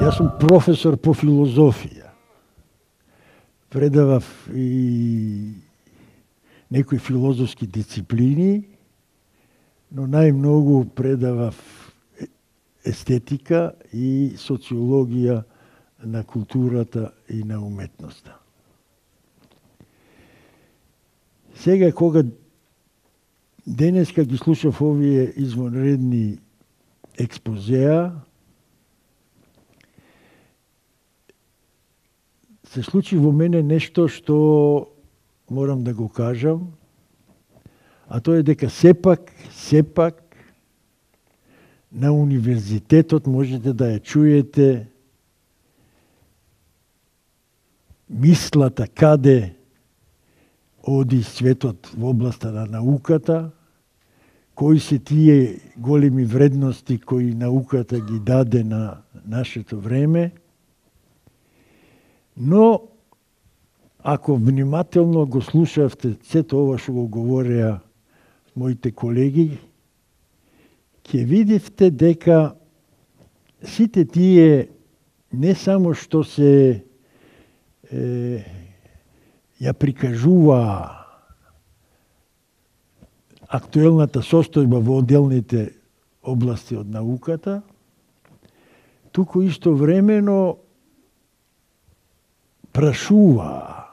Јас сум професор по филозофија. Предавав и некои филозофски дисциплини, но најмногу предавав естетика и социологија на културата и на уметноста. Сега кога денеска ги слушав овие извонредни експозеа, се случи во мене нешто што морам да го кажам, а тоа е дека сепак на универзитетот можете да ја чуете мислата каде оди светот во областа на науката, кои се тие големи вредности кои науката ги даде на нашето време, но ако внимателно го слушавте сето ова што го говореа моите колеги, ќе видите дека сите тие не само што се ја прикажува актуелната состојба во отделните области од науката, туку истовремено прашува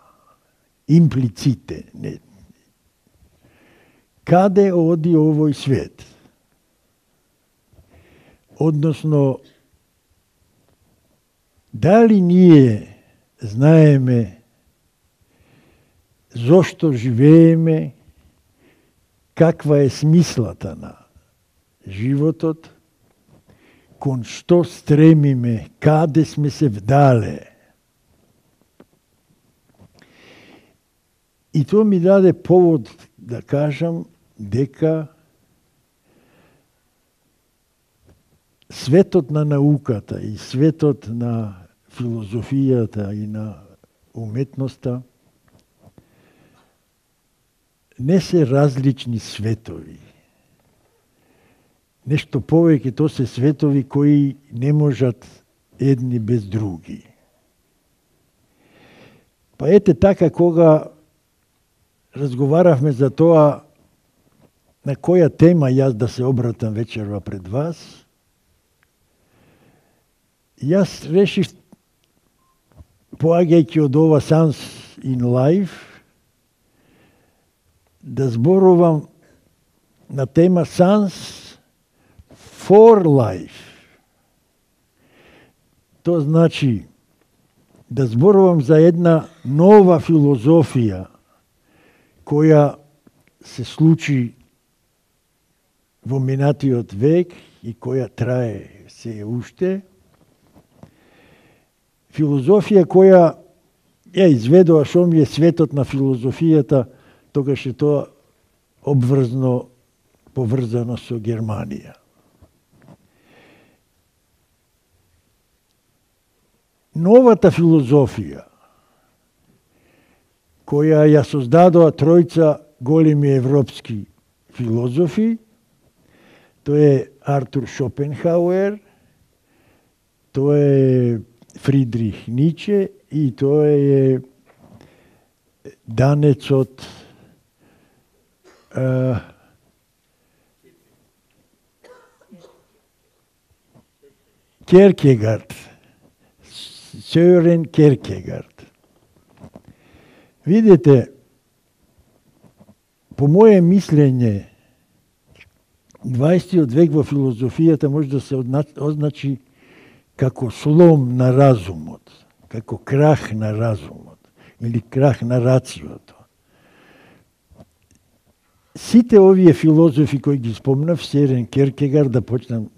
имплиците каде оди овој свет. Односно, дали ние знаеме зошто живееме, каква е смислата на животот, кон што стремиме, каде сме се вдале. И тоа ми даде повод да кажам дека светот на науката и светот на филозофијата и на уметноста не се различни светови. Нешто повеќе, тоа се светови кои не можат едни без други. Па ете така, кога разговаравме за тоа на која тема јас да се обратам вечерва пред вас, јас решив, поаѓајќи од ова Science in Life, да зборувам на тема Science for Life. Тоа значи да зборувам за една нова филозофија која се случи во минатиот век и која трае се уште. Филозофија која ја изведува што ми е светот на филозофијата, тогаш е тоа поврзано со Германија. Новата филозофија, која ја создадоа тројца големи европски филозофи, тоа е Артур Шопенхауер, тоа е Фридрих Ниче и тоа е данецот Кierkegaard, Сёрен Кierkegaard. Видите, по моје мислење, 20 век во филозофијата може да се означи како слом на разумот, како крах на разумот или крах на рациото. Сите овие филозофи кои ги спомнав, Сёрен Кierkegaard, да почнам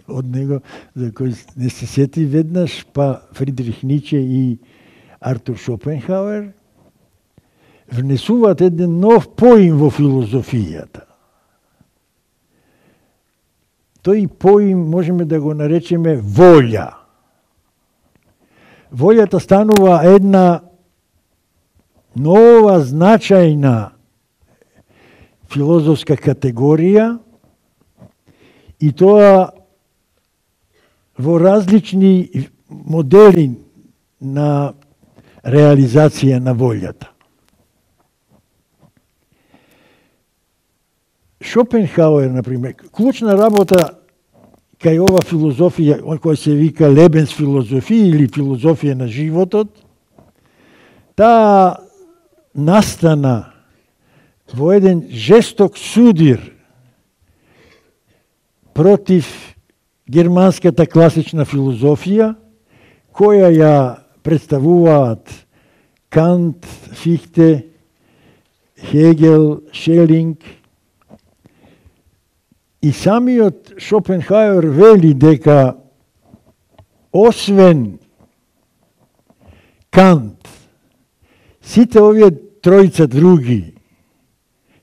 од него, за кој не се сети веднаш, па Фридрих Ниче и Артур Шопенхауер, внесуваат еден нов поим во филозофијата. Тој поим можеме да го наречеме волја. Волјата станува една нова значајна филозофска категорија и тоа во различни модели на реализација на волјата. Шопенхауер, например, клучна работа кај ова филозофија, која се вика Лебенсфилозофија или филозофија на животот, таа настана во еден жесток судир против германската класична филозофија, која ја представуваат Кант, Фихте, Хегел, Шелинг. И самиот Шопенхауер вели дека освен Кант, сите овие тројца други,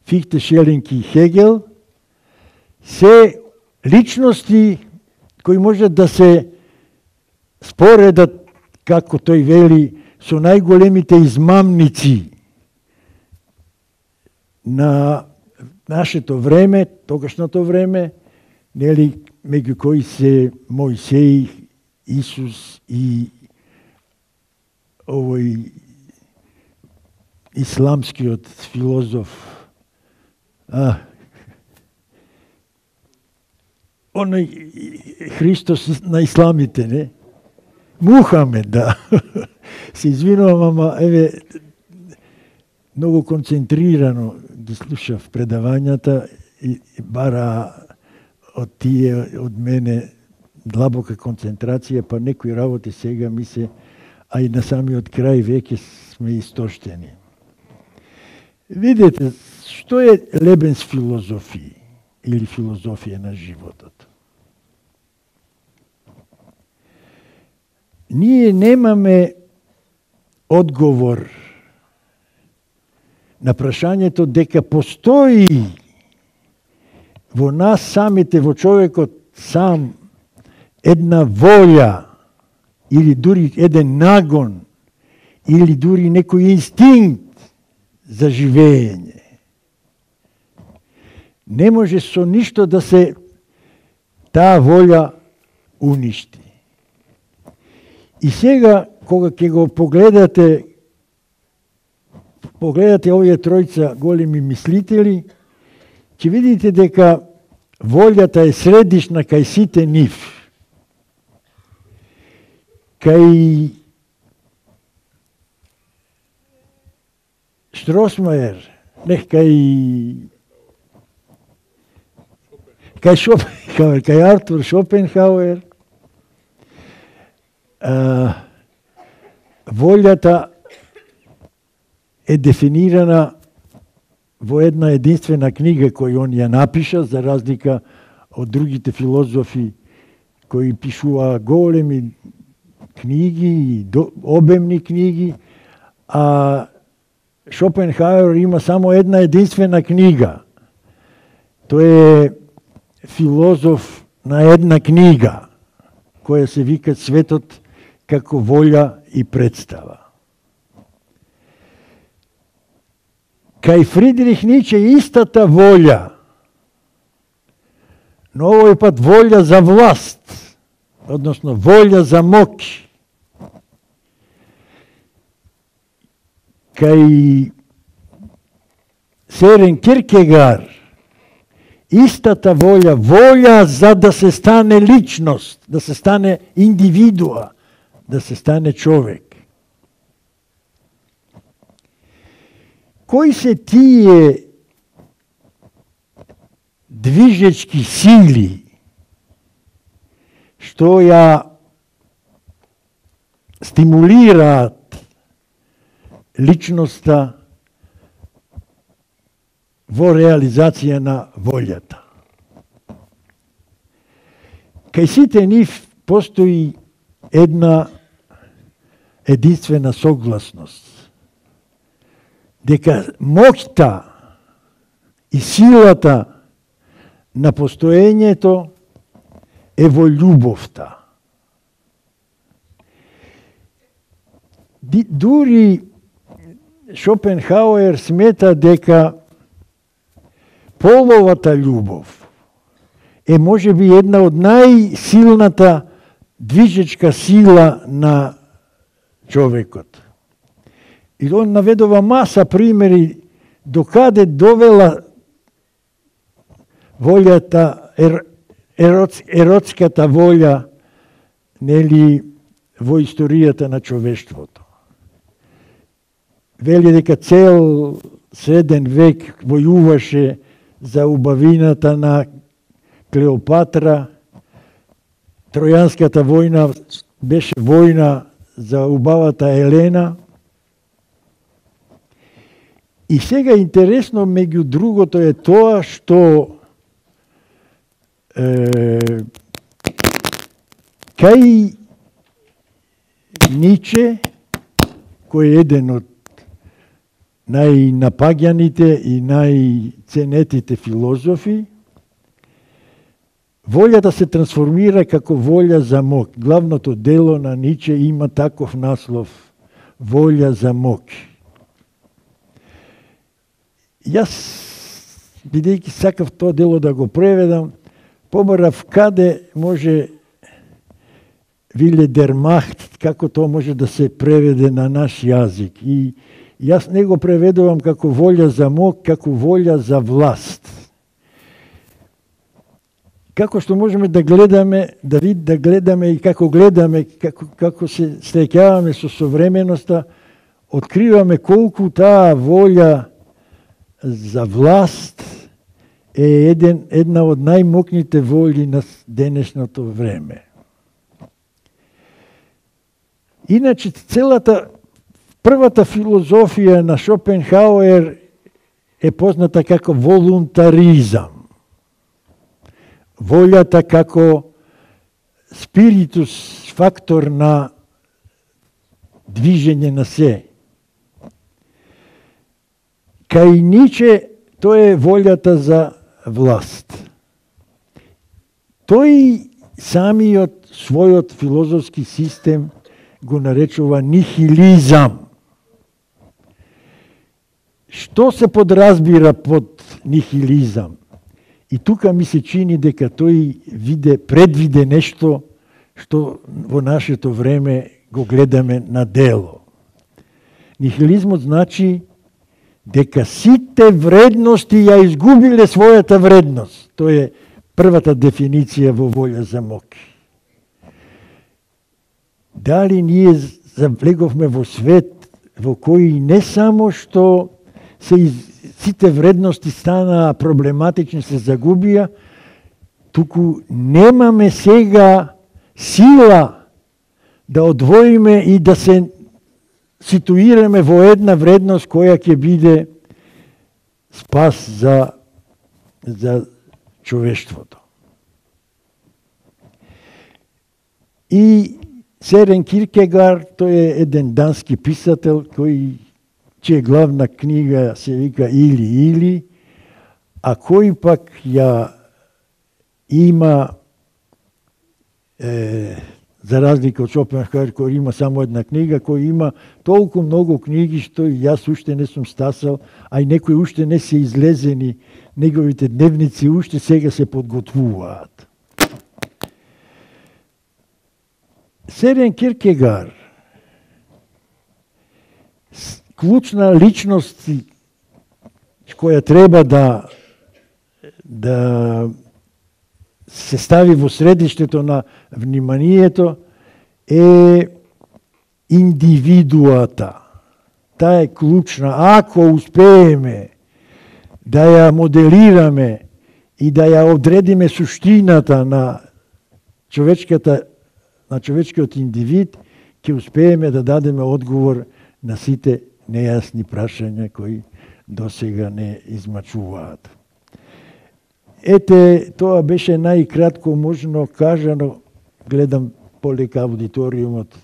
Фихте, Шелинг и Хегел, се личности кои можат да се споредат, како тој вели, со најголемите измамници на нашето време, тогашното време, нели, меѓу кои се Мојсеј, Исус и овој исламскиот филозоф, оној Христос на исламите, не? Мухамед, да. Се извинувам, ама еве многу концентрирано ги слушав предавањата и бара од тие, од мене длабока концентрација, па некои работи сега ми се, а и на самиот крај веќе сме истоштени. Видете, што е Лебенсфилозофија или филозофија на животот? Ние немаме одговор на прашањето дека постои во нас самите, во човекот сам, една волја или дури еден нагон или дури некој инстинкт за живење. Не може со ништо да се таа волја уништи. И сега, кога ќе го погледате овие тројца големи мислители, ќе видите дека волјата е средишна кај сите нив. Кај Штросмајер, кај Шопенхауер, кај Артур Шопенхауер, волјата е дефинирана во една единствена книга која он ја напиша, за разлика од другите филозофи кои пишуваа големи книги, обемни книги, а Шопенхауер има само една единствена книга. Тој е филозоф на една книга, која се вика Светот како волја и представа. Кај Фридрих Ницше истата волја, но овој пат волја за власт, односно волја за моќ. Кај Сорен Киркегар, истата волја, волја за да се стане личност, да се стане индивидуа, да се стане човек. Кои се тие движечки сили што ја стимулираат личноста во реализација на волјата? Кај сите нив постои една единствена согласност, дека моќта и силата на постоењето е во љубовта. Дури Шопенхауер смета дека половата љубов е можеби една од најсилната движечка сила на човекот. И он наведува маса примери докаде довела волјата, еротската волја, нели, во историјата на човештвото. Вели дека цел среден век војуваше за убавината на Клеопатра. Тројанската војна беше војна за убавата Елена. И сега интересно, меѓу другото е тоа што кај Ниче, кој е еден од најнапаѓаните и најценетите филозофи, волјата се трансформира како волја за моќ. Главното дело на Ниче има таков наслов – волја за моќ. Јас, бидејќи сакав тоа дело да го преведам, побарав каде може Виле дер Махт, како тоа може да се преведе на наш јазик. И јас не го преведувам како волја за моќ, како волја за власт. Како што можеме да гледаме, да гледаме и како гледаме, како се стреќаваме со современоста, откриваме колку таа волја за власт е една од најмокните волји на денешното време. Иначе, првата филозофија на Шопенхауер е позната како волунтаризам. Волјата како спиритус, фактор на движење на се. Кај Ниче тоа е волјата за власт. Тој самиот својот филозофски систем го наречува нихилизам. Што се подразбира под нихилизам? И тука ми се чини дека тој предвиде нешто што во нашето време го гледаме на дело. Нихилизмот значи дека сите вредности ја изгубиле својата вредност. Тоа е првата дефиниција во волја за моќ. Дали ние завлеговме во свет во кој не само што сите вредности станаа проблематични, се загубија, туку немаме сега сила да одвоиме и да се ситуираме во една вредност која ќе биде спас за човештвото. И Серен Киркегард, тој е еден дански писател чија главна книга се вика Или, а кој пак ја има, за разлика од Шопенхауер, кој има само една книга, кој има толку многу книги што јас уште не сум стасал, а и некои уште не се излезени, неговите дневници уште сега се подготвуваат. Серен Киркегар, клучна личност која треба да се стави во средиштето на вниманието е индивидуата. Таа е клучна. Ако успееме да ја моделираме и да ја одредиме суштината на човечкиот индивид, ќе успееме да дадеме одговор на сите нејасни прашања кои досега не измачуваат. Ете, тоа беше најкратко можно кажано. Гледам полека аудиториумот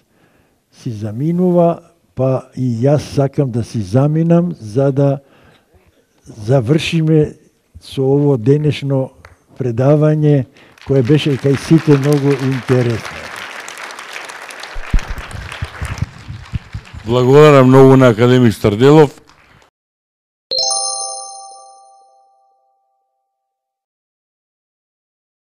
си заминува, па и јас сакам да си заминам за да завршиме со ово денешно предавање кое беше кај сите многу интересно. Благодарам многу на академик Старделов.